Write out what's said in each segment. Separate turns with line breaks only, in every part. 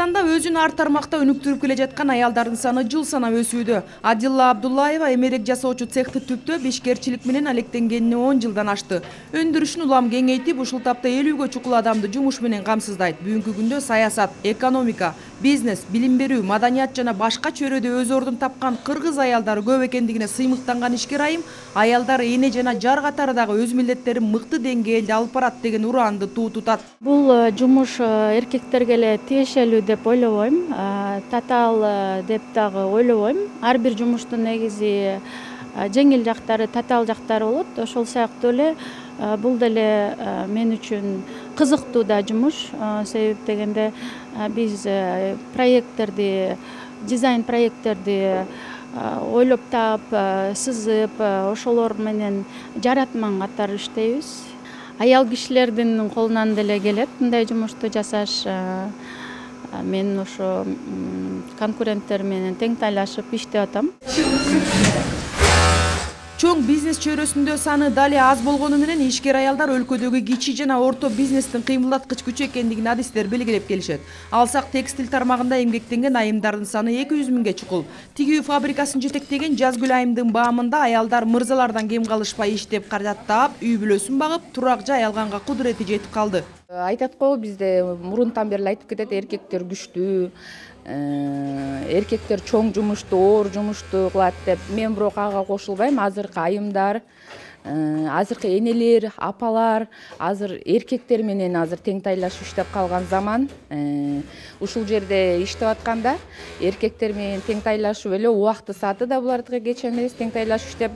Кыргызстанда өзүн ар тармакта өнүктүрүп келе жаткан аялдардын саны жыл санап өсүүдө. Адилла Абдуллаева эмерек жасоочу цехти түптөп ишкерчилик менен алектенгенине 10 жылдан ашты. Өндүрүшүн улам кеңейтип, ушул тапта 50ге чукул адамды жумуш менен камсыздайт. Бүгүнкү күндө саясат, экономика, бизнес, билим берүү, маданият жана башка чөйрөдө өз ордун тапкан кыргыз аялдары көп экендигине сыймыктанган ишкер айым, аялдар эне жана жар катары дагы өз милдеттерин мыкты деңгээлде алып барат деген ураанды туу тутат.
Бул жумуш эркектерге эле тиешелүү деп ойлобойм, татаал деп дагы ойлобойм. Ар бир жумуштун негизи жеңил жактары, татаал жактары болот. Ошол сыяктуу эле бул деле мен үчүн кызыктуу да жумуш. Себеп дегенде биз проекттерди, дизайн проекттерди ойлоп таап, сызып, ошолор менен жаратман катары иштейбиз. Аял кишилердин колунан деле келет мындай жумушту жасаш. Мен ошо конкуренттер менен тең тайлашып иштеп атам.
Чоң бизнес чөйрөсүндө саны дали аз болгону менен ишкер аялдар өлкөдөгү кичи жана орто бизнестин кыймылдаткыч күчү экендигин адистер белгилеп келишет. Алсак, текстиль тармагында эмгектенген айымдардын саны 200 миңге чукул. Тигүү фабрикасын жетектеген Жазгүл айымдын баамында аялдар мырзалардан кем калышпай иштеп, каражат таап, үй бүлөсүн багып, турак жай алганга кудурети жетип калды.
Айтат го, бизде мурунтан бери айтып кетет, эркектер күчтүү, эркектер чоң жумушту, оор жумушту кылат деп. Мен бирок ага кошулбайм. Азыркы айымдар, азыркы энелер, апалар азыр эркектер менен азыр тең тайлашып иштеп калган заман. Ушул жерде иштеп атканда эркектер менен тең тайлашып эле убакты сааты да булардыгы кеч эмес, тең тайлашып иштеп,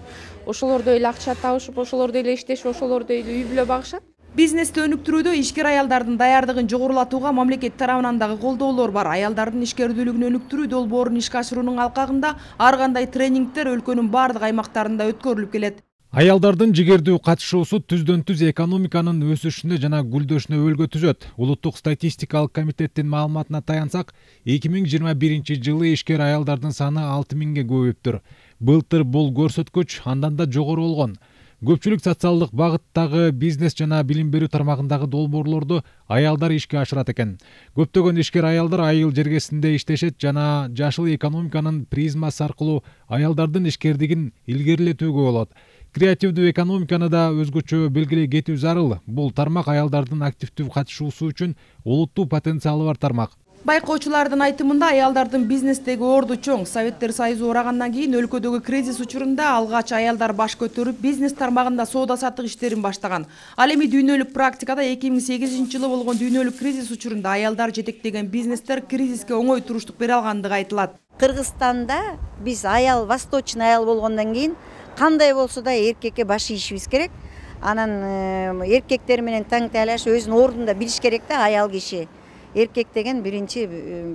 ошолордой эле акча табышып, ошолордой эле иштешип, ошолордой эле үй бүлө багышат.
Бизнести өнүктүрүүдө ишкер аялдардын даярдыгын жогорулатууга мамлекет тарабынан дагы колдоолор бар. Аялдардын ишкердүүлүгүн өнүктүрүү долбоорун ишке ашыруунун алкагында ар кандай тренингдер өлкөнүн бардык аймактарында өткөрүлүп келет.
Аялдардын жигердүү катышуусу түздөн-түз экономиканын өсүшүнө жана гүлдөшүнө өбөлгө түзөт. Улуттук статистикалык комитеттин маалыматына таянсак, 2021-жылы ишкер аялдардын саны 6 миңге көбөйүптүр. Былтыр бул көрсөткүч андан да жогору болгон. Көпчүлүк социалдык багыттагы бизнес жана билим берүү тармагындагы долбоорлорду аялдар ишке ашырат экен. Көптөгөн ишкер аялдар айыл жергесинде иштешет жана жашыл экономиканын призмасы аркылуу аялдардын ишкердигин илгерилетүүгө болот. Креативдүү экономиканы да өзгөчө белгилей кетүү зарыл. Бул тармак аялдардын активдүү катышуусу үчүн олуттуу потенциалы бар тармак.
Байкоочулардын айтымында аялдардын бизнестеги орду чоң. Советтер Союзу урагандан кийин өлкөдөгү кризис учурунда алгач аялдар баш көтөрүп, бизнес тармагында соода саттык иштерин баштаган. Ал эми дүйнөлүк практикада 2008-жылы болгон дүйнөлүк кризис учурунда аялдар жетектеген бизнестер кризиске оңой туруштук бере алгандыгы айтылат.
Кыргызстанда биз аял, восточный аял болгондон кийин кандай болсо да эркекке баш ийишибиз керек. Анан эркектер менен тең тайлашып өзүнүн ордунда билиш керек да аял киши. Эркек деген биринчи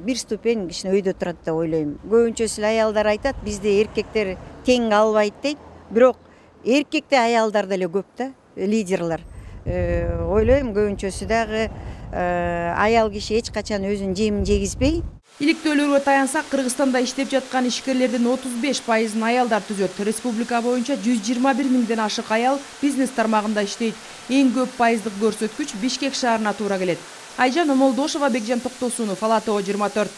бир ступень кичине өйдө турат деп ойлойм. Көбүнчөсү эле аялдар айтат, бизде эркектер тең албайт дейт. Бирок эркекте аялдар деле көп да, лидерлер. Ойлойм көбүнчөсү дагы аял киши эч качан өзүнүн жемин жегизбей.
Иликтөөлөргө таянсак, Кыргызстанда иштеп жаткан ишкерлердин 35%-ын аялдар түзөт. Республика боюнча 121 миңден ашык аял бизнес тармагында иштейт. Эң көп пайыздык көрсөткүч Бишкек шаарына туура келет. Айжан Омолдошова, Бекжан Токтосунов, Ала ТВ 24.